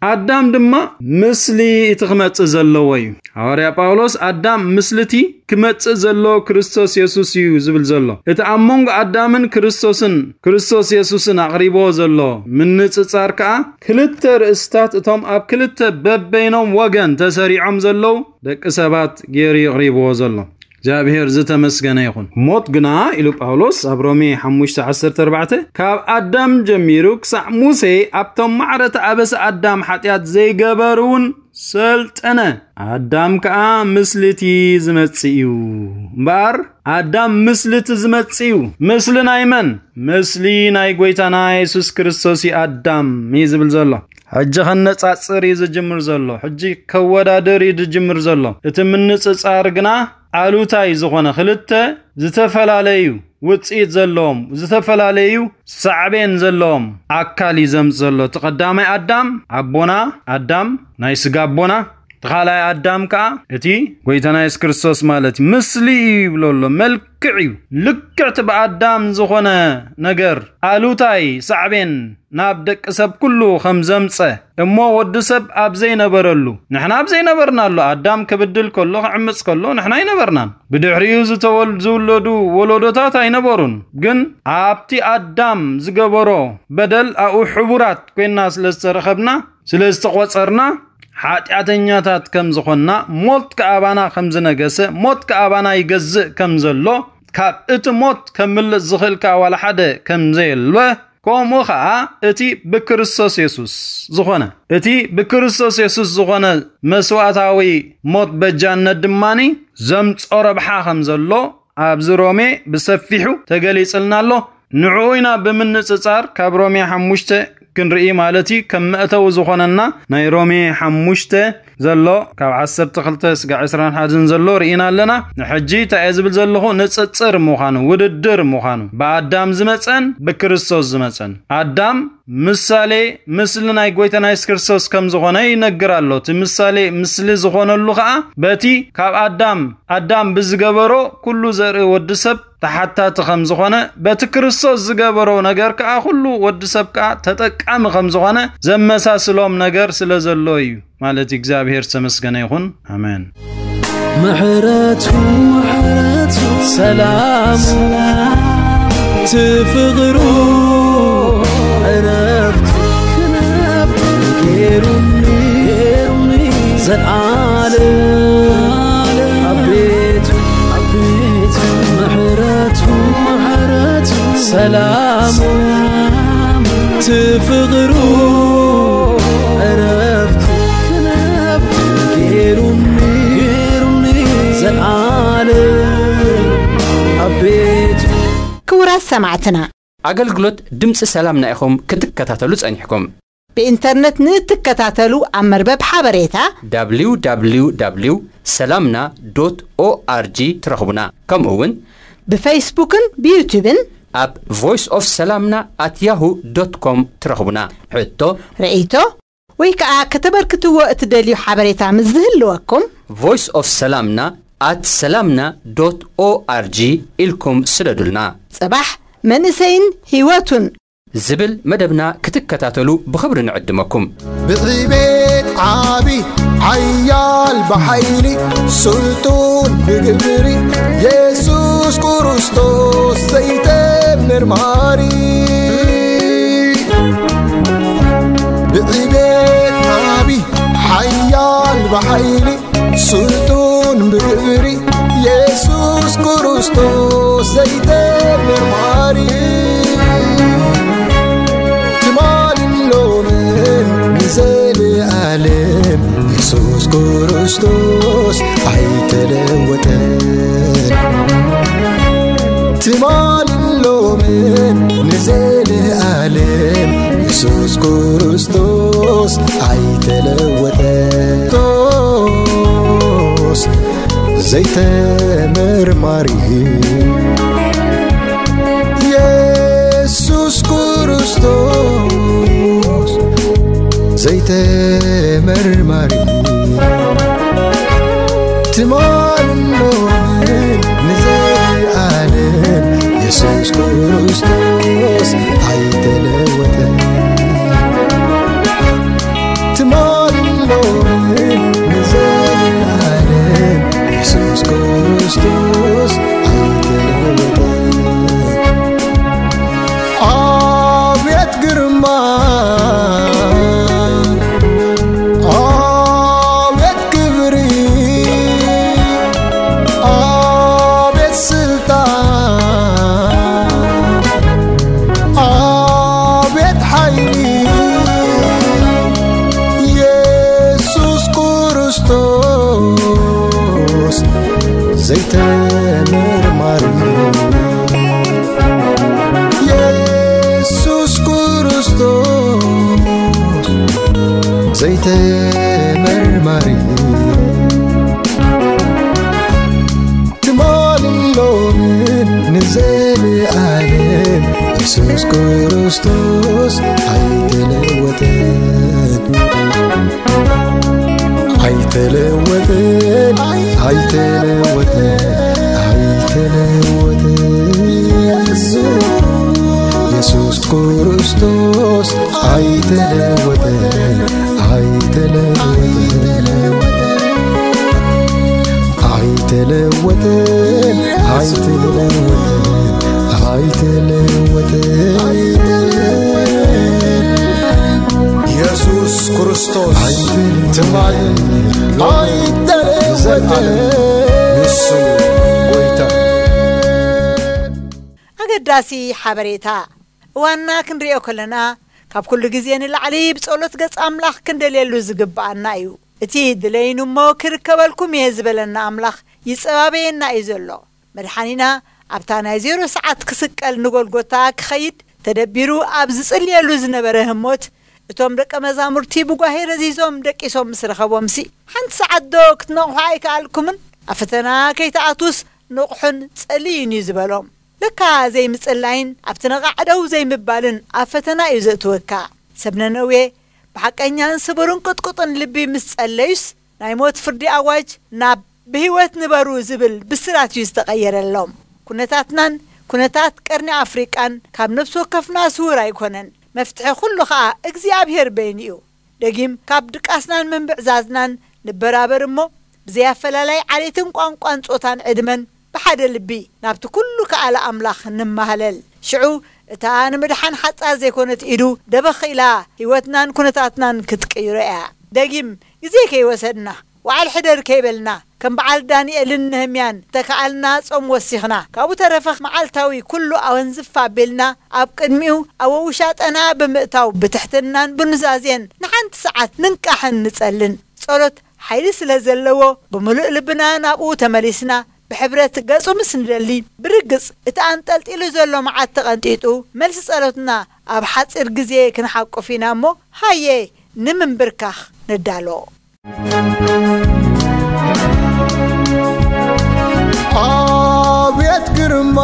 ኣዳም ድማ ምስሊ እቲ ክመጽእ ዘለዎ እዩ። ሃዋርያ ጳውሎስ ኣዳም ምስልቲ ክመጽእ ዘሎ ክርስቶስ የሱስ እዩ ዝብል ዘሎ። እቲ ኣብ መንጎ ኣዳምን ክርስቶስን፣ ክርስቶስ የሱስን ኣቕሪብዎ ዘሎ ምንጽጻር ከኣ ክልተ ርእስታት እቶም ኣብ ክልተ በበይኖም ወገን ተሰሪዖም ዘለዉ ደቂ ሰባት ገይሩ ይቕሪብዎ ዘሎ። እግዚኣብሔር ዝተመስገነ ይኹን። ሞት ግና፣ ኢሉ ጳውሎስ ኣብ ሮሜ ሓሙሽተ ዓሰርተ ኣርባዕተ፣ ካብ ኣዳም ጀሚሩ ክሳዕ ሙሴ ኣብቶም ማዕረ እቲ ኣበሳ ኣዳም ሓጢኣት ዘይገበሩ እውን ሰልጠነ። ኣዳም ከኣ ምስልቲ ዝመጽእ እዩ። እምበኣር ኣዳም ምስልቲ ዝመጽእ እዩ። ምስሊ ናይ መን? ምስሊ ናይ ጎይታና የሱስ ክርስቶስ እዩ ኣዳም እዩ ዝብል ዘሎ። ሕጂ ከነጻጽር እዩ ዝጅምር ዘሎ። ሕጂ ከወዳድር እዩ ዝጅምር ዘሎ። እቲ ምንጽጻር ግና ኣሉታይ ዝኾነ ክልተ ዝተፈላለዩ ውጽኢት ዘለዎም፣ ዝተፈላለዩ ሳዕቤን ዘለዎም ኣካል እዩ ዘምጽእ ዘሎ። እቲ ቀዳማይ ኣዳም ኣቦና፣ ኣዳም ናይ ስጋ ኣቦና፣ እቲ ካልኣይ ኣዳም ከኣ እቲ ጎይታና የሱስ ክርስቶስ ማለት እዩ። ምስሊ እዩ ይብሎ ኣሎ፣ መልክዕ እዩ። ልክዕቲ ብኣዳም ዝኾነ ነገር ኣሉታይ ሳዕቤን ናብ ደቂ ሰብ ኩሉ ከም ዘምጸ፣ እሞ ወዲ ሰብ ኣብ ዘይነበረሉ፣ ንሕና ኣብ ዘይነበርናሉ፣ ኣዳም ክብድል ከሎ፣ ክዕምጽ ከሎ፣ ንሕና ኣይነበርናን። ብድሕሪኡ ዝተወል-፣ ዝውለዱ ወለዶታት ኣይነበሩን። ግን ኣብቲ ኣዳም ዝገበሮ በደል ኣብኡ ሕቡራት ኮይንና ስለ ዝተረኸብና፣ ስለ ዝተቖጸርና፣ ሓጢኣተኛታት ከም ዝኾንና፣ ሞት ከኣ ኣባና ከም ዝነገሰ፣ ሞት ከኣ ኣባና ይገዝእ ከም ዘሎ፣ ካብ እቲ ሞት ከምልጥ ዝኽእል ከኣ ዋላ ሓደ ከም ዘየለ፣ ከምኡ ኸዓ እቲ ብክርስቶስ የሱስ ዝኾነ፣ እቲ ብክርስቶስ የሱስ ዝኾነ መስዋእታዊ ሞት በጃነት ድማኒ ዘምጾ ረብሓ ከም ዘሎ ኣብዚ ሮሜ ብሰፊሑ ተገሊጽልና ኣሎ። ንዕኡ ኢና ብምንጽጻር ካብ ሮሜ ሓሙሽተ ክንርኢ ማለት እዩ። ከም መእተዊ ዝኾነና ናይ ሮሜ ሓሙሽተ ዘሎ ካብ ዓሰርተ ክልተ ስጋዕ ዕስራን ሓደን ዘሎ ርኢና ኣለና። ንሕጂ እንታይ እየ ዝብል ዘለኹ? ንጽጽር ምዃኑ፣ ውድድር ምዃኑ፣ ብኣዳም ዝመጸን ብክርስቶስ ዝመጸን። ኣዳም ምሳሌ፣ ምስሊ ናይ ጎይታና የሱስ ክርስቶስ ከም ዝኾነ ይነግር ኣሎ። እቲ ምሳሌ፣ ምስሊ ዝኾነሉ ኸኣ በቲ ካብ ኣዳም፣ ኣዳም ብዝገበሮ ኩሉ ዘርኢ ወዲ ሰብ ተሓታቲ ከም ዝኾነ፣ በቲ ክርስቶስ ዝገበሮ ነገር ከኣ ኩሉ ወዲ ሰብ ከኣ ተጠቃሚ ከም ዝኾነ ዘመሳስሎም ነገር ስለ ዘሎ እዩ። ማለት እግዚኣብሔር ዝተመስገነ ይኹን። ኣሜን። ምሕረቱ፣ ምሕረቱ፣ ሰላሙ፣ እቲ ፍቕሩ፣ ዕረፍቱ፣ ክነብር ገይሩኒ፣ ገይሩኒ፣ ዘልዓለም ኣብ ቤቱ፣ ኣብ ቤቱ፣ ምሕረቱ፣ ምሕረቱ፣ ሰላሙ፣ እቲ ፍቕሩ፣ ዕረፍቱ፣ ክነብር ገይሩኒ፣ ገይሩኒ፣ ዘልዓለም ኣብ ቤቱ። ክቡራት ሰማዕትና፣ ኣገልግሎት ድምፂ ሰላምና ኢኹም ክትከታተሉ ጸኒሕኩም። ብኢንተርነት ንእትከታተሉ፣ ኣብ መርበብ ሓበሬታ www ሰላምና ዶት ኦኣርጂ ትረኽቡና። ከምኡ እውን ብፌስቡክን ብዩቱብን ኣብ ቮይስ ኦፍ ሰላምና ኣት ያሁ ዶት ኮም ትረኽቡና። ሕቶ፣ ርእይቶ ወይ ከዓ ከተበርክትዎ እትደልዩ ሓበሬታ ምስ ዝህልወኩም፣ ቮይስ ኦፍ ሰላምና ኣት ሰላምና ዶት ኦኣርጂ ኢልኩም ስደዱልና። ጽባሕ መንእሰይን ህይወቱን ዝብል መደብና ክትከታተሉ ብኽብሪ ንዕድመኩም። ብዕቤት ዓቢ ሓያል ብሓይሊ ስልጡን ብግብሪ የሱስ ክርስቶስ ዘይተምር መሃሪ። ብዕቤት ዓቢ ሓያል ብሓይሊ ስልጡን ብግብሪ የሱስ ክርስቶስ ዘይተምር መሃሪ። ትማልን ሎምን ንዘለኣለም የሱስ ክርስቶስ ኣይተለወጠን። ትማልን ሎምን ንዘለኣለም የሱስ ክርስቶስ ኣይተለወጠን። ክርስቶስ ዘይተመርማሪ የሱስ ክርስቶስ ዘይተመርማሪ ትማልን ሎምን ንዘለኣለም የሱስ ክርስቶስ ኣይተለወጠን። ትማልን ሎምን ንዘለኣለም የሱስ ክርስቶስ ኣይተለወጠን። ኣቤት ግርማ፣ ኣቤት ክብሪ፣ ኣቤት ስልጣን፣ ኣቤት ሓይሊ የሱስ ክርስቶስ ዘይተመርማሪ የሱስ ክርስቶስ ዘይተመርማሪ ትማልን ሎምን ንዘለኣለም የሱስ ክርስቶስ ኣይተለወጠን። ኣይተለወጠን፣ ኣይተለወጠን፣ ኣይተለወጠን። የሱስ ክርስቶስ ኣይተለወጠን፣ ኣይተለወጠን፣ ኣይተለወጠን፣ ኣይተለወጠን፣ ኣይተለወጠን። የሱስ ክርስቶስ ትማሊ ሎሚ ንዘለዓለም ንሱ እዩ ጎይታ። ኣገዳሲ ሓበሬታ። እዋንና ክንሪኦ ከለና፣ ካብ ኩሉ ግዜ ንላዕሊ ብጸሎት ገጽ ኣምላኽ ክንደልየሉ ዝግብኣና እዩ። እቲ ድለዩኒ እሞ ክርከበልኩም እየ ዝበለና ኣምላኽ ይጸባበየና እዩ ዘሎ። መድሓኒና ኣብታ ናይ ዜሮ ሰዓት ክስቀል ንጎልጎታ ክኸይድ ተደቢሩ ኣብ ዝጽልየሉ ዝነበረ ህሞት፣ እቶም ደቀ መዛሙርቲ ብጓሄ ረዚዞም ደቂሶም ምስ ረኸቦምሲ፣ ሓንቲ ሰዓት ዶ ክትነቕሑ ኣይከኣልኩምን? ኣብ ፈተና ከይትኣትዉስ ንቕሑን ጸልዩን እዩ ዝበሎም። ለካ ዘይምጽላይን ኣብቲ ነቓዕ ደው ዘይምባልን ኣብ ፈተና እዩ ዘእትወካ። ሰብ ነነዌ ብሓቀኛን ስቡርን ቅጥቁጥን ልቢ ምስ ጸለዩስ፣ ናይ ሞት ፍርዲ ኣዋጅ ናብ ብህይወት ንበሩ ዝብል ብስራት እዩ ዝተቐየረሎም። ኩነታትናን ኩነታት ቀርኒ ኣፍሪቃን ካብ ነፍሲ ወከፍና ስዉር ኣይኮነን። መፍትሒ ኩሉ ኸኣ እግዚኣብሔር በይኑ እዩ። ደጊም ካብ ድቃስናን ምንብዕዛዝናን ንበራበር እሞ፣ ብዘይ ኣፈላላይ ዓሌትን ቋንቋን ጾታን ዕድመን ብሓደ ልቢ ናብቲ ኩሉ ከኣለ ኣምላኽ ንማህለል። ሽዑ እታ ንምድሓን ሓጻር ዘይኮነት ኢዱ ደበኽ ኢላ ህይወትናን ኩነታትናን ክትቅይሮ እያ። ደጊም ግዜ ከይወሰድና፣ ዋዕል ሕደር ከይበልና፣ ከም በዓል ዳንኤልን ነህምያን ተከኣልና ጾም ወሲኽና፣ ካብኡ ተረፈ መዓልታዊ ኩሉ ኣወንዝፍ ኣቢልና ኣብ ቅድሚኡ ኣብ ውሻጠና ብምእታው ብትሕትናን ብኑዛዜን ንሓንቲ ሰዓት ንንቃሕን ንጸልን። ጸሎት ሓይሊ ስለ ዘለዎ ብምሉእ ልብና ናብኡ ተመሊስና ብሕብረት ገጹ ምስ ንደሊ፣ ብርግጽ እቲ ኣንጠልጢሉ ዘሎ መዓት ተቐንጢጡ፣ መልሲ ጸሎትና ኣብ ሓጺር ግዜ ክንሓቁፍ ኢና እሞ፣ ሃየ ንምንብርካኽ ንዳሎ። ኣቤት ግርማ፣